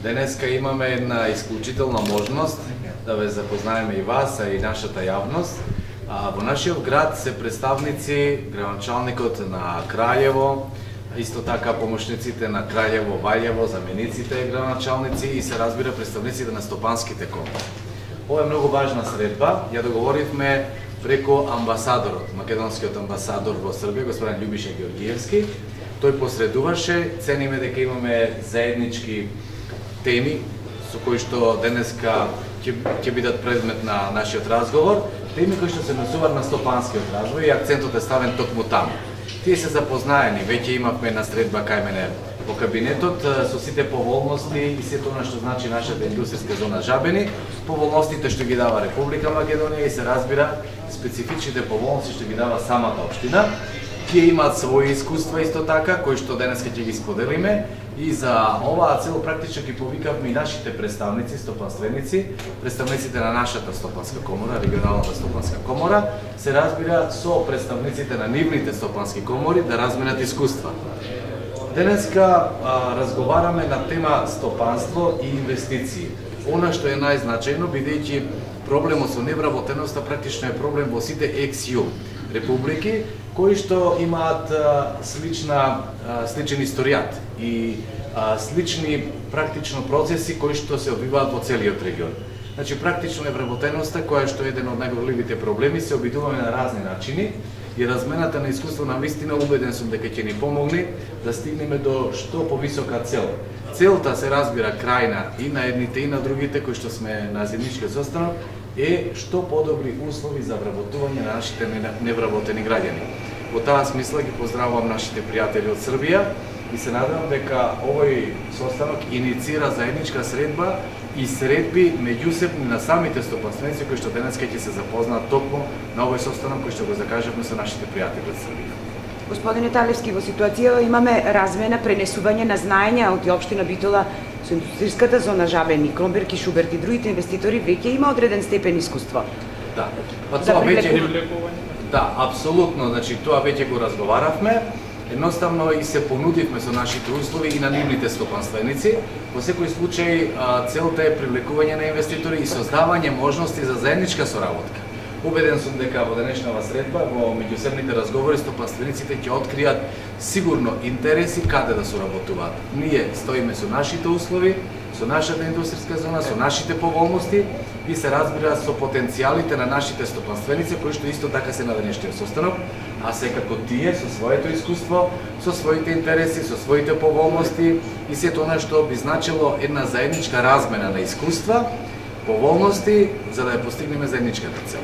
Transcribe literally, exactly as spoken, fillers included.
Денеска имаме една исклучителна можност да ве запознаеме и вас, а и нашата јавност. Во нашиот град се представници, градоначалникот на Краљево, исто така помошниците на Краљево, Ваљево, замениците градоначалници и се разбира представниците на стопанските комори. Ова е многу важна средба, ја договоривме преку амбасадорот, македонскиот амбасадор во Србија, господин Љубиша Георгиевски. Тој посредуваше, цениме дека имаме заеднички теми со кои што денеска ќе ќе бидат предмет на нашиот разговор, теми кои што се однесуваат на стопанскиот развој и акцентот е ставен токму таму. Тие се запознаени, веќе имавме една средба кај мене во кабинетот со сите поволности и сето она што значи нашата индустријска зона Жабени, поволностите што ги дава Република Македонија и се разбира специфичните поволности што ги дава самата општина. Тие имаат своји искуства исто така, кои што денеска ќе ги споделиме и за оваа цел практично ги повикавме и нашите представници, стопанственици, представниците на нашата стопанска комора, регионалната стопанска комора, се разбира со представниците на нивните стопански комори да разменат искуства. Денеска а, разговараме на тема стопанство и инвестиции. Она што е најзначајно, бидејќи проблемот со невработеноста практично е проблем во сите екс-ју републики, кои што имаат а, слична, а, сличен историјат и а, слични практично процеси кои што се одвиваат во целиот регион. Значи, практично невработеноста, која што е еден од најголемите проблеми, се обидуваме на разни начини и размената на искуство на вистина убеден сум дека ќе ни помогне да стигнеме до што повисока цел. Целта се разбира крајна и на едните и на другите кои што сме на заедничкиот состанок е што подобри услови за вработување на нашите невработени граѓани. Во таа смисла ги поздравувам нашите пријатели од Србија и се надевам дека овој состанок иницира заедничка средба и средби меѓусебни на самите стопанственици кои што денеска ќе се запознаат токму на овој состанок кој што го закажавме со нашите пријатели од Србија. Господине Талевски, во ситуација имаме размена, пренесување на знаења од општина Битола со индустријската зона Жабени, Кромберг и Шуберт и другите инвеститори веќе има одреден степен искуство. Да, па тоа веќе Да, апсолутно, значи тоа веќе го разговаравме. Едноставно и се понудивме со нашите услови и на нивните стопанственици. Во секој случај целта е привлекување на инвеститори и создавање можности за заедничка соработка. Убеден сум дека во денешнава средба, во меѓусебните разговори, стопанствениците ќе откријат сигурно интереси каде да соработуваат. Ние стоиме со нашите услови, со нашата индустријска зона, со нашите поволности и се разбира со потенцијалите на нашите стопанственици кои што исто така се на денешниот состанок, а секако тие со своето искуство, со своите интереси, со своите поволности и сето она што би значило една заедничка размена на искуства, поволности за да ја постигнеме заедничката цел.